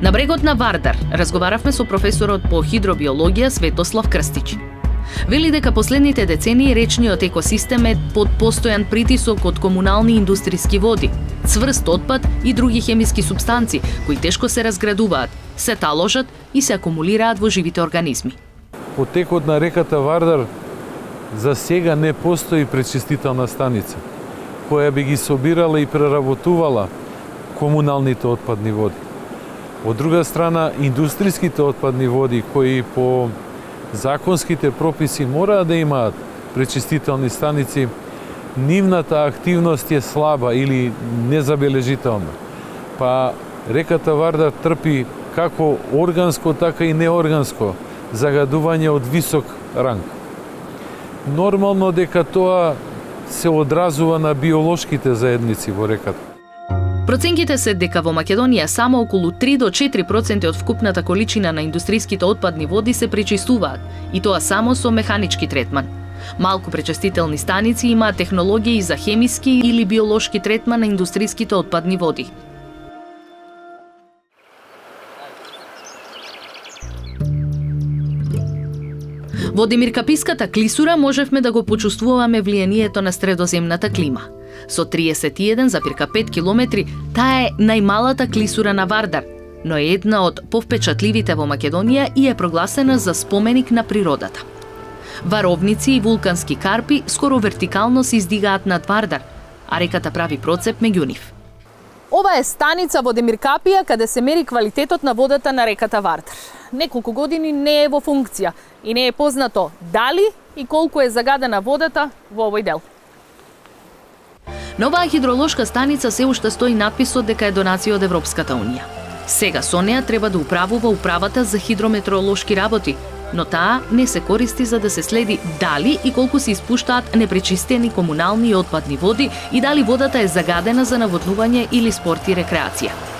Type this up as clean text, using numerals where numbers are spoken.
На брегот на Вардар разговаравме со професорот по хидробиологија Светослав Крстич. Вели дека последните децении речниот екосистем е под постојан притисок од комунални индустријски води, цврст отпад и други хемиски супстанци кои тешко се разградуваат, се таложат и се акумулираат во живите организми. Потекот на реката Вардар за сега не постои пречистителна станица која би ги собирала и преработувала комуналните отпадни води. Од друга страна, индустријските отпадни води кои по законските прописи мора да имаат пречистителни станици, нивната активност е слаба или незабележителна. Па реката Вардар трпи како органско, така и неорганско загадување од висок ранг. Нормално дека тоа се одразува на биолошките заедници во реката. Проценките се дека во Македонија само околу 3 до 4% од вкупната количина на индустријските отпадни води се пречистуваат, и тоа само со механички третман. Малку пречистителни станици имаат технологии за хемиски или биолошки третман на индустријските отпадни води. Во Демиркаписката клисура можевме да го почувствуваме влијанието на средоземната клима. Со 31,5 километри, таа е најмалата клисура на Вардар, но е една од повпечатливите во Македонија и е прогласена за споменик на природата. Варовници и вулкански карпи скоро вертикално се издигаат над Вардар, а реката прави процеп меѓу нив. Ова е станица во Демиркапија каде се мери квалитетот на водата на реката Вардар. Неколку години не е во функција и не е познато дали и колку е загадена водата во овој дел. На оваа хидролошка станица се уште стои надписот дека е донација од Европската Унија. Сега со неа треба да управува управата за хидрометеоролошки работи, но таа не се користи за да се следи дали и колку се испуштаат непречистени комунални и отпадни води и дали водата е загадена за наводнување или спорт и рекреација.